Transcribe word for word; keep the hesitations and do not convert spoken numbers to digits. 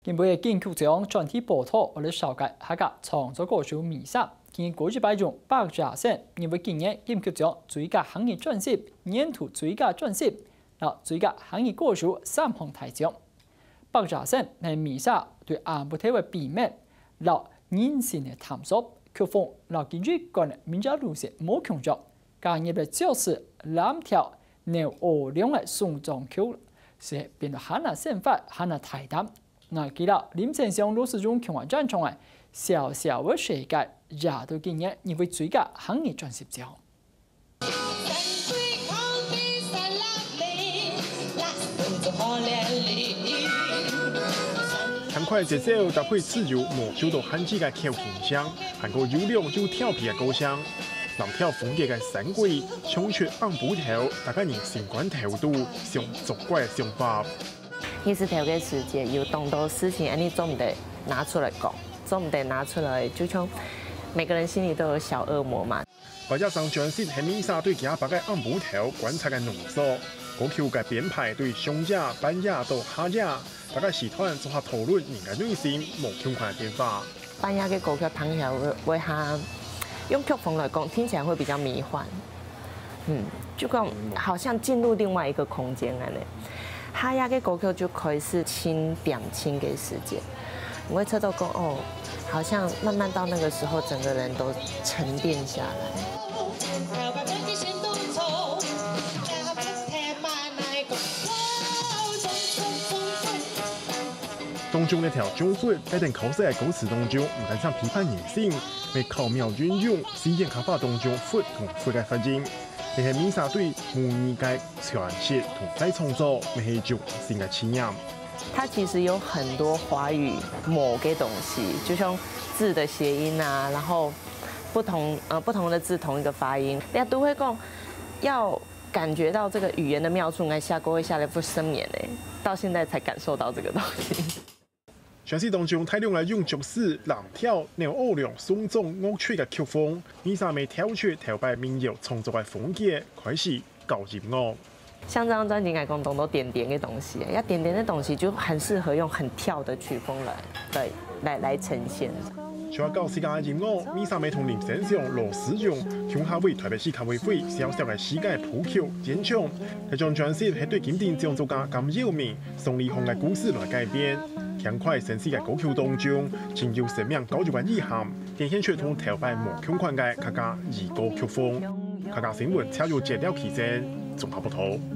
今晡日金曲獎專題報導，𠊎來紹介客家創作歌手Misa。今年過一擺中百家姓，因為今年金曲獎最佳客語專輯、年度最佳專輯、摎最佳客語歌手三項大獎。百家姓係Misa對暗晡頭个秘密，摎人生个探索，曲風摎佢一貫个民謠路線無共樣，加入了爵士、藍調、扭歐龍个送葬曲，使變到還較生活，還較大膽。 𠊎記得林先生老師用共下演唱个《小小的世界》，也到今年入圍最佳客語專輯獎。輕快節奏搭配自由無受到限制个口琴聲，還過優良又調皮个歌聲，藍調風格个山歌，唱出暗晡頭，大家人心肝頭肚想作怪个想法。 日時頭个時節，有當多事情，恁呢做毋得拿出來講，做毋得拿出來，就像每個人心裡都有小惡魔嘛。八月張專輯係Misa對佢阿爸个暗晡頭觀察个濃縮，歌曲个編排對上夜、半夜到下夜，大家時段做下討論人个內心無共款个變化。半夜个歌曲聽起來會，會較用曲風來講，聽起來會比較迷幻。 嗯，就講好像進入另外一個空間恁呢。下夜个歌曲就開始輕恬靜个時間，我會覺得講哦，好像慢慢到那個時候，整個人都沉澱下來。 當中个調中分，在等考試个歌詞當中，毋單淨批判人性，乜巧妙運用四縣客話當中佛同佛个發音，這係Misa對母語个詮釋同再創作，乜係一種新个體驗。它其實有很多華語某个東西，就像字的諧音啊，然後不同，呃，不同的字同一個發音，人家都會講要感覺到這個語言的妙處，𠊎寫歌會寫了不少年欸，到現在才感受到這個東西。專輯當中大量來用爵士、藍調、扭歐龍、送葬樂曲个曲風，Misa乜跳出頭擺民謠創作个風格，開始搞音樂。像這張專輯，𠊎講當多恬恬个東西，要恬恬个東西就很適合用很跳的曲風來，對，來，來呈現。 除了搞自家个音樂，Misa乜同林先生、羅思容共下為台北市客委會小小个世界譜曲演唱。這張專輯係對金鼎獎作家甘耀明、宋理宏个故事來改編。輕快紳士个歌曲當中，盡有生命教育个意涵，展現出同頭擺無共款个客家兒歌曲風。客家新聞，謝友傑、廖啟正綜合報導。